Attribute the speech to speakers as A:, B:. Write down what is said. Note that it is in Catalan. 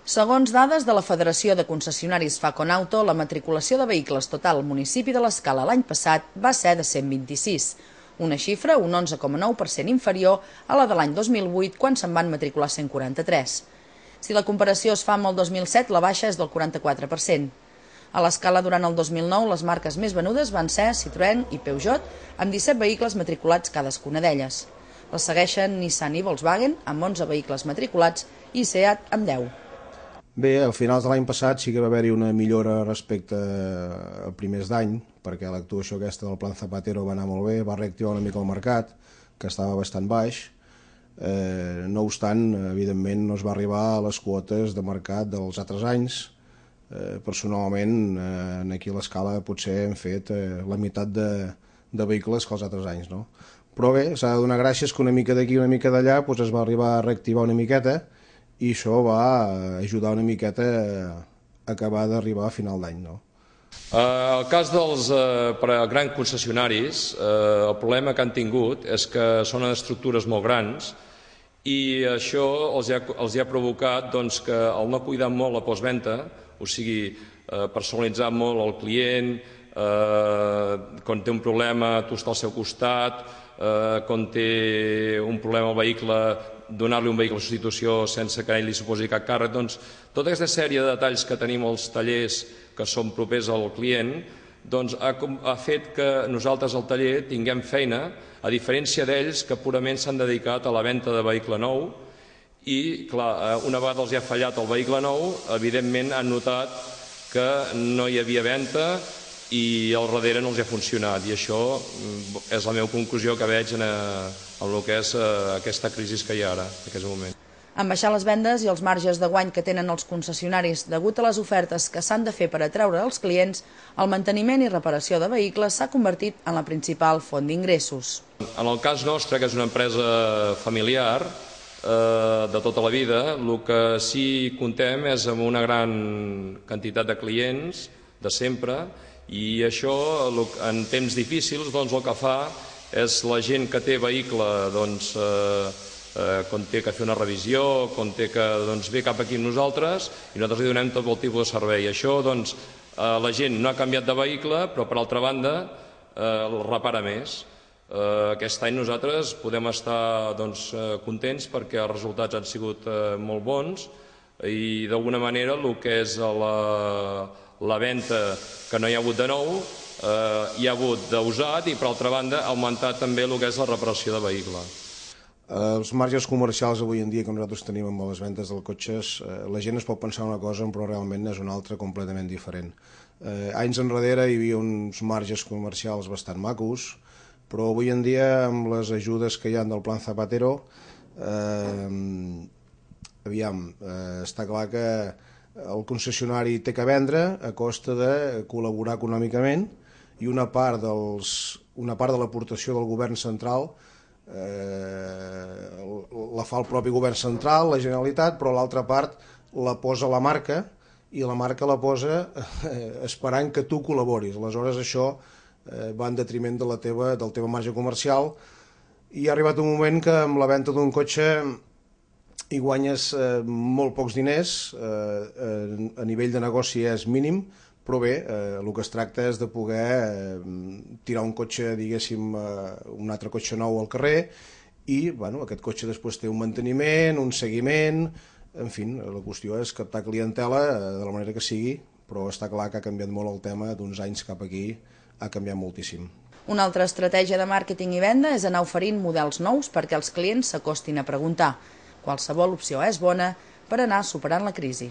A: Segons dades de la Federació de Concessionaris Faconauto, la matriculació de vehicles total al municipi de l'Escala l'any passat va ser de 126, una xifra un 11,9% inferior a la de l'any 2008, quan se'n van matricular 143. Si la comparació es fa amb el 2007, la baixa és del 44%. A l'Escala, durant el 2009, les marques més venudes van ser Citroën i Peugeot, amb 17 vehicles matriculats cadascuna d'elles. Les segueixen Nissan i Volkswagen, amb 11 vehicles matriculats, i Seat, amb 10.
B: Bé, a finals de l'any passat sí que va haver-hi una millora respecte a primers d'any, perquè l'actuació aquesta del Plan Zapatero va anar molt bé, va reactivar una mica el mercat, que estava bastant baix. No obstant, evidentment, no es va arribar a les quotes de mercat dels altres anys. Personalment, aquí a l'Escala potser hem fet la meitat de vehicles que els altres anys, no? Però bé, s'ha de donar gràcies que una mica d'aquí, una mica d'allà, es va arribar a reactivar una miqueta, i això va ajudar una miqueta a acabar d'arribar a final d'any, no?
C: El cas dels grans concessionaris, el problema que han tingut és que són estructures molt grans i això els ha provocat que el no cuidar molt la postventa, o sigui, personalitzar molt el client, quan té un problema tu estàs al seu costat, quan té un problema el vehicle, donar-li un vehicle de substitució sense que ell li suposi cap càrrec. Doncs tota aquesta sèrie de detalls que tenim als tallers que són propers al client ha fet que nosaltres al taller tinguem feina, a diferència d'ells que purament s'han dedicat a la venda de vehicle nou i, clar, una vegada els ha fallat el vehicle nou, evidentment han notat que no hi havia venda i al darrere no els ha funcionat, i això és la meva conclusió que veig en el que és aquesta crisi que hi ha ara, en aquest moment.
A: En baixar les vendes i els marges de guany que tenen els concessionaris degut a les ofertes que s'han de fer per atraure els clients, el manteniment i reparació de vehicles s'ha convertit en la principal font d'ingressos.
C: En el cas nostre, que és una empresa familiar de tota la vida, el que sí comptem és amb una gran quantitat de clients de sempre, i això en temps difícils el que fa és la gent que té vehicle quan té que fer una revisió, quan té que ve cap aquí amb nosaltres, i nosaltres li donem tot el tipus de servei. Això, la gent no ha canviat de vehicle, però per altra banda el repara més. Aquest any nosaltres podem estar contents perquè els resultats han sigut molt bons i d'alguna manera el que és la venda que no hi ha hagut de nou, hi ha hagut d'usat, i per altra banda ha augmentat també el que és la reparació de vehicle.
B: Els marges comercials avui en dia que nosaltres tenim amb les vendes dels cotxes, la gent es pot pensar una cosa però realment és una altra completament diferent. Anys enrere hi havia uns marges comercials bastant macos, però avui en dia amb les ajudes que hi ha del Plan Zapatero, està clar que el concessionari té que vendre a costa de col·laborar econòmicament, i una part de l'aportació del govern central la fa el propi govern central, la Generalitat, però l'altra part la posa la marca, i la marca la posa esperant que tu col·laboris. Aleshores això va en detriment del teu marge comercial, i ha arribat un moment que amb la venda d'un cotxe hi guanyes molt pocs diners, a nivell de negoci és mínim, però bé, el que es tracta és de poder tirar un cotxe, diguéssim, un altre cotxe nou al carrer, i aquest cotxe després té un manteniment, un seguiment, en fi, la qüestió és captar clientela de la manera que sigui, però està clar que ha canviat molt el tema d'uns anys cap aquí, ha canviat moltíssim.
A: Una altra estratègia de màrqueting i venda és anar oferint models nous perquè els clients s'acostin a preguntar. Qualsevol opció és bona per anar superant la crisi.